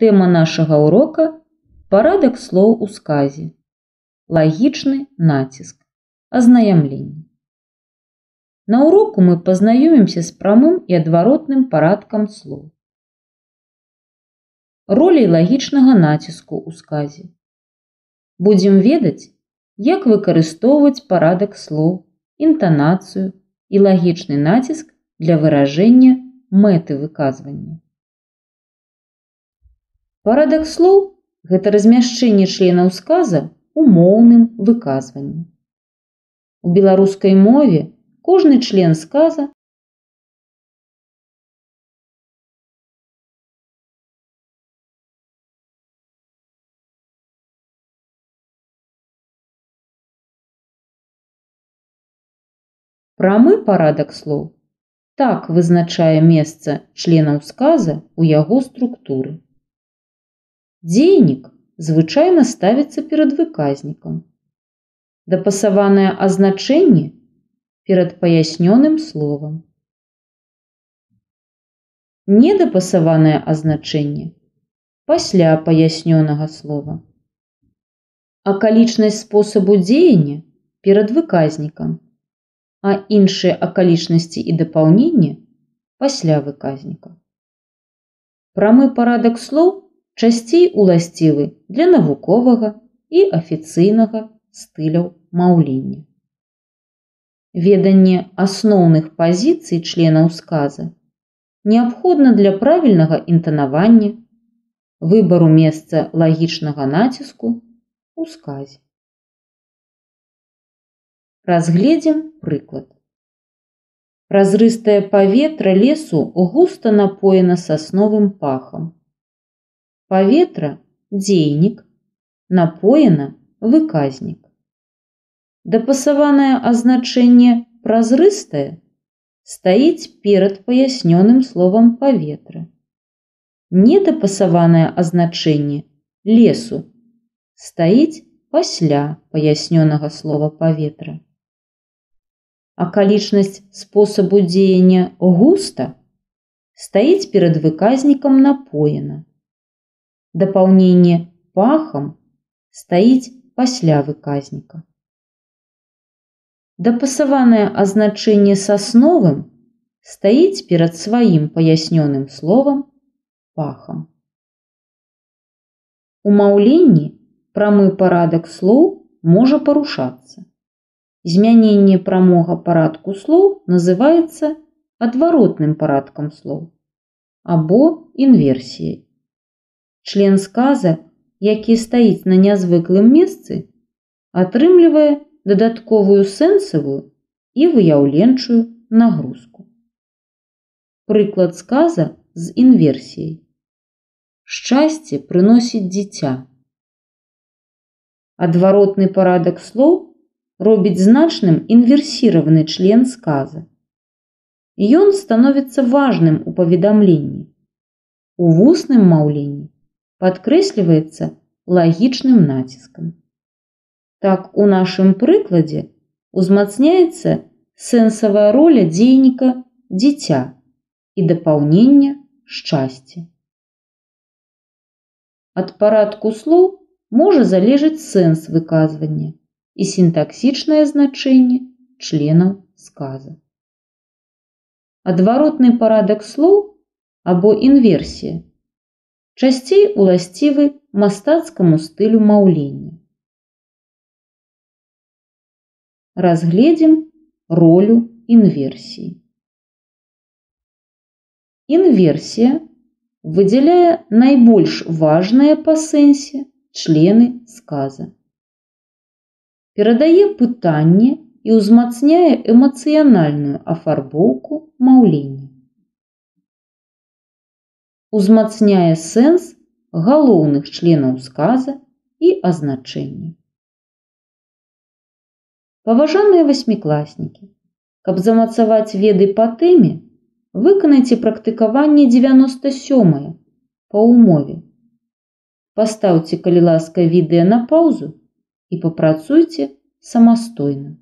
Тэма нашага ўрока – парадак слоў у сказе, лагічны націск, азнаямленне. На уроку мы пазнаёмімся з прамым і адваротным парадкам слоў. Роляй лагічнага націску ў сказе. Будзем ведаць, як выкарыстоўваць парадак слоў, інтанацыю і лагічны націск для выражэння мэты выказвання. Парадак слоў – гэта размяшчэнне членаў сказа ў моўным выказванні. У беларускай мове кожны член сказа прамы парадак слоў так вызначае месца членаў сказа ў яго структуры. Дзейнік звычайна ставіцца перад выказнікам. Дапасаванае азначэнне перад паяснёным словам. Недапасаванае азначэнне пасля паяснёнага слова. Акалічнасць спосабу дзеяння перад выказнікам, а іншыя акалічнасці і дапаўнення пасля выказніка. Прамы парадак слоў часцей уласцівы для навуковага і афіцыйнага стыляў маўлення. Веданне асноўных пазіцый членаў сказа неабходна для правільнага інтанавання, выбару месца лагічнага націску ў сказе. Разгледзім прыклад. Празрыстае паветра лесу густа напоена сасновым пахам. Паветра – дзейнік, напоена – выказнік. Дапасаванае азначэнне празрыстае стаіць перад паяснёным словам паветра. Недапасаванае азначэнне лесу стаіць пасля паяснёнага слова паветра. Акалічнасць спосабу дзеяння густа стаіць перад выказнікам напоена. Дапаўненне пахам стаіць пасля выказніка. Дапасаванае азначэнне сасновым стаіць перад сваім паяснёным словам пахам. У маўленні прамы парадак слоў можа парушацца. Змяненне прамога парадку слоў называецца адваротным парадкам слоў або інверсіяй. Член сказа, які стаіць на нязвыклым месцы, атрымлівае дадатковую сэнсавую і выяўленчую нагрузку. Прыклад сказа з інверсіяй. Шчасце прыносіць дзіця. Адваротны парадак слоў робіць значным інверсіраваны член сказа. Ён становіцца важным у паведамленні. У вусным маўленні падкрэсліваецца лагічным націскам. Так, у нашым прыкладзе узмацняецца сэнсавая роля дзейніка дзіця і дапаўнення шчасце. Ад парадку слоў можа залежаць сэнс выказвання і сінтаксічнае значэнне членаў сказа. Адваротны парадак слоў або інверсія часцей уласцівы мастацкаму стылю маўлення. Разгледзім ролю інверсіі. Інверсія выдзяляе найбольш важныя па сэнсе члены сказа. Перадае пытанне і ўзмацняе эмацыянальную афарбоўку маўлення. Узмацняе сэнс галоўных членаў сказа і азначэння. Паважаныя васьмікласнікі, каб замацаваць веды па тэме, выканайце практыкаванне 97 па ўмове. Пастаўце, калі ласка, відэа на паўзу і папрацуйце самастойна.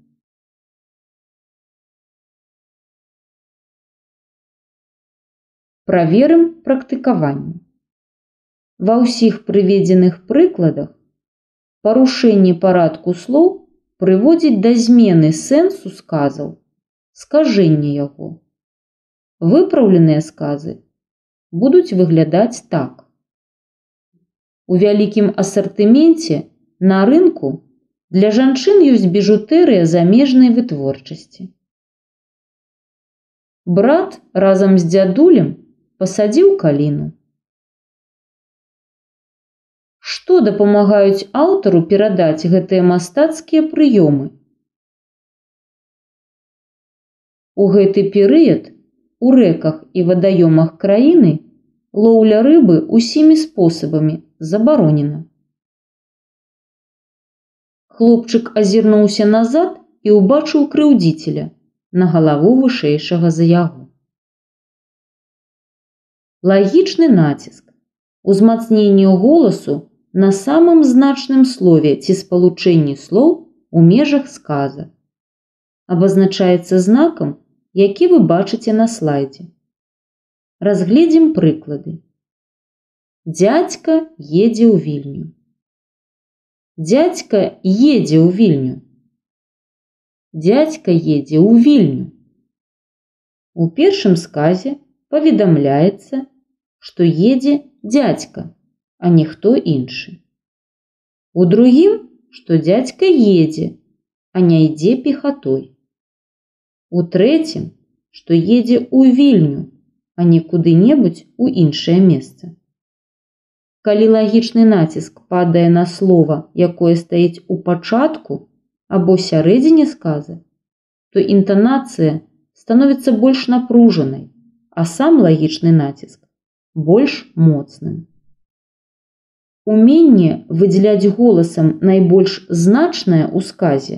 Праверым практыкаванне. Ва ўсіх прыведзеных прыкладах парушэнне парадку слоў прыводзіць да змены сэнсу сказаў, скажэння яго. Выпраўленыя сказы будуць выглядаць так. У вялікім асартыменце на рынку для жанчын ёсць біжутэрыя замежнай вытворчасці. Брат разам з дзядулем пасадзіў каліну. Што дапамагаюць аўтару перадаць гэтыя мастацкія прыёмы? У гэты перыяд у рэках і вадаёмах краіны лоўля рыбы усімі спосабамі забаронена. Хлопчык азірнуўся назад і ўбачыў крыўдзіцеля на галаву вышэйшага за яго. Лагічны націск, узмацненне голасу на самым значным слове ці спалучэнні слоў у межах сказа, абазначаецца знакам, які вы бачыце на слайдзе. Разгледзім прыклады. Дзядзька едзе ў Вільню. Дзядзька едзе ў Вільню. Дзядзька едзе ў Вільню. У першым сказе паведамляецца, што едзе дзядзька, а не хто іншы. У другім, што дзядзька едзе, а не ідзе пехатой. У трэцім, што едзе ў Вільню, а не куды-небудзь у іншае месца. Калі лагічны націск падае на слова, якое стаіць у пачатку або сярэдзіне сказа, то інтанацыя становіцца больш напружанай, а сам лагічны націск больш моцным. Уменне выдзяляць голасам найбольш значнае ў сказе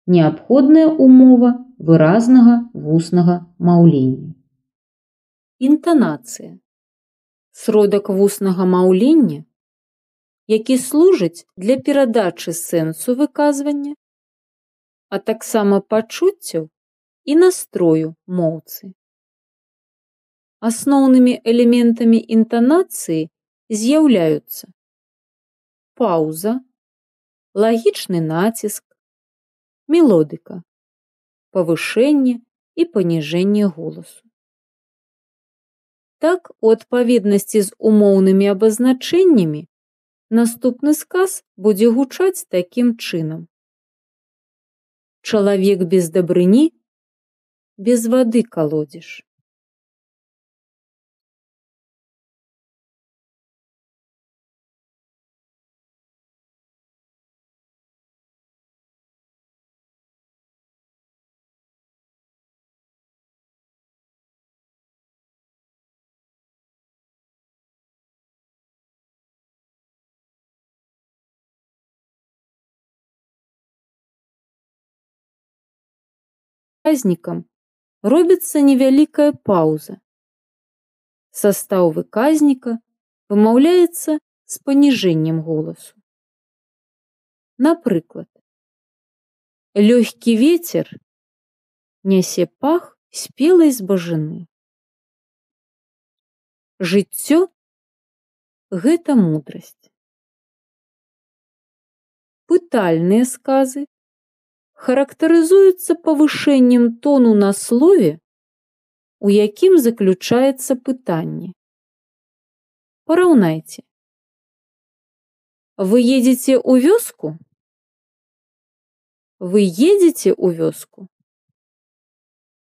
неабходная умова выразнага вуснага маўлення. Інтанацыя – сродак вуснага маўлення, які служыць для перадачы сэнсу выказвання, а таксама пачуццяў і настрою моўцы. Асноўнымі элементамі інтанацыі з'яўляюцца паўза, лагічны націск, мелодыка, павышэнне і паніжэнне голасу. Так, у адпаведнасці з умоўнымі абазначэннямі наступны сказ будзе гучаць такім чынам. Чалавек без дабрыні без вады калодзіш. Выказнікам робіцца невялікая паўза. Састаў выказніка вымаўляецца з паніжэннем голасу. Напрыклад, лёгкі вецер нясе пах спелай збажыны. Жыццё – гэта мудрасць. Пытальныя сказы характарызуюцца павышэннем тону на слове, у якім заключаецца пытанне. Параўнайце. Вы едзеце ў вёску? Вы едзеце ў вёску?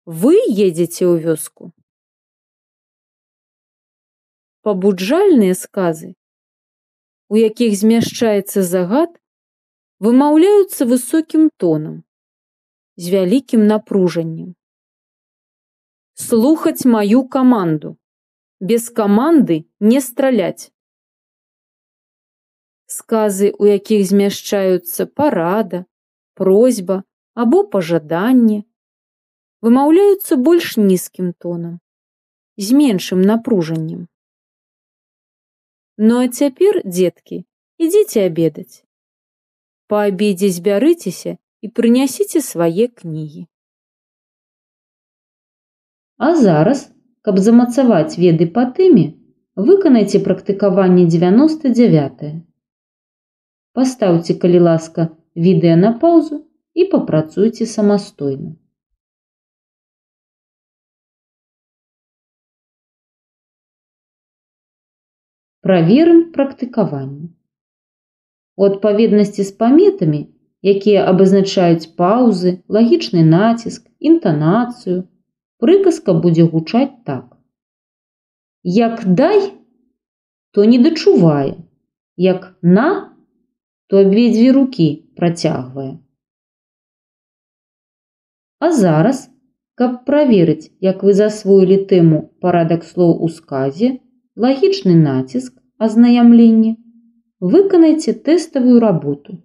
Вы едзеце ў вёску? Пабуджальныя сказы, у якіх змяшчаецца загад, вымаўляюцца высокім тонам, з вялікім напружаннем. Слухаць маю каманду. Без каманды не страляць. Сказы, у якіх змяшчаюцца парада, просьба або пажаданне, вымаўляюцца больш нізкім тонам, з меншым напружаннем. Ну а цяпер, дзеткі, ідзіце абедаць. Па абедзе збярыцеся і прынясіце свае кнігі. А зараз, каб замацаваць веды па тэме, Выканайце практыкаванне 99. Пастаўце, калі ласка, відэа на паўзу і папрацуйце самастойна. Праверым практыкаванне. У адпаведнасці з паметамі, якія абазначаюць паўзы, лагічны націск, інтанацыю, прыказка будзе гучаць так. Як дай, то не дачувае, як на, то абедзве рукі працягвае. А зараз, каб праверыць, як вы засвоілі тэму парадак слоў у сказе, лагічны націск, азнаямленне, выканайце тэставую работу.